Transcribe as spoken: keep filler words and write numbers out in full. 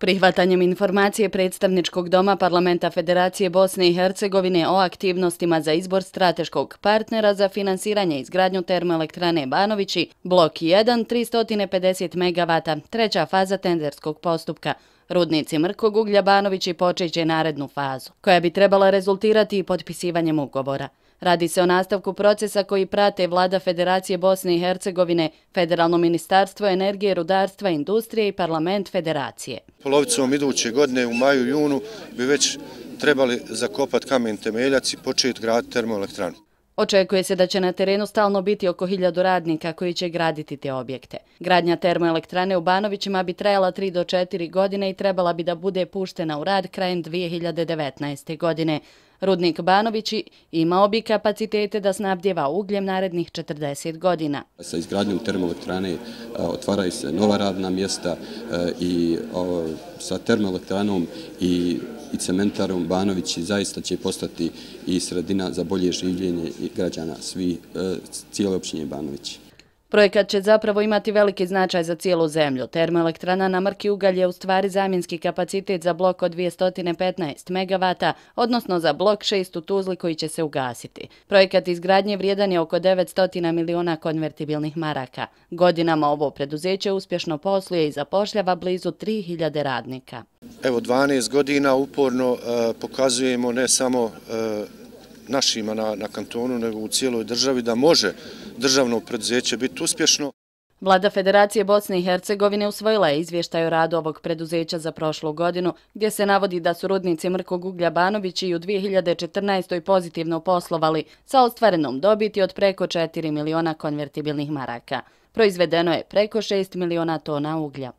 Prihvatanjem informacije predstavničkog doma Parlamenta Federacije Bosne i Hercegovine o aktivnostima za izbor strateškog partnera za finansiranje i izgradnju termoelektrane Banovići, blok jedan, tristo pedeset megavata, treća faza tenderskog postupka, rudnici mrkog uglja Banovići počeće narednu fazu, koja bi trebala rezultirati i potpisivanjem ugovora. Radi se o nastavku procesa koji prate Vlada Federacije Bosne i Hercegovine, Federalno ministarstvo energije, rudarstva, industrije i Parlament Federacije. Polovicom iduće godine u maju, junu bi već trebali zakopati kamen temeljac i početi graditi termoelektranu. Očekuje se da će na terenu stalno biti oko hiljadu radnika koji će graditi te objekte. Gradnja termoelektrane u Banovićima bi trajala tri do četiri godine i trebala bi da bude puštena u rad krajem dvije hiljade devetnaeste. godine. Rudnik Banovići imao bi kapacitete da snabdjeva ugljem narednih četrdeset godina. Sa izgradnjom termoelektrane otvaraju se nova radna mjesta i sa termoelektranom i i cementarom Banovići zaista će postati i sredina za bolje življenje građana svi cijele općine Banovići. Projekat će zapravo imati veliki značaj za cijelu zemlju. Termoelektrana na mrki ugalj je u stvari zamjenski kapacitet za blok od dvjesto petnaest megavata, odnosno za blok šest u Tuzli koji će se ugasiti. Projekat izgradnje vrijedan je oko devetsto miliona konvertibilnih maraka. Godinama ovo preduzeće uspješno posluje i zapošljava blizu tri hiljade radnika. Evo dvanaest godina uporno uh, pokazujemo ne samo uh, našima na, na kantonu, nego u cijeloj državi da može državno preduzeće biti uspješno. Vlada Federacije Bosne i Hercegovine usvojila je izvještaj o radu ovog preduzeća za prošlu godinu, gdje se navodi da su rudnici mrkog uglja Banovići i u dvije hiljade četrnaestoj. pozitivno poslovali sa ostvarenom dobiti od preko četiri miliona konvertibilnih maraka. Proizvedeno je preko šest miliona tona uglja.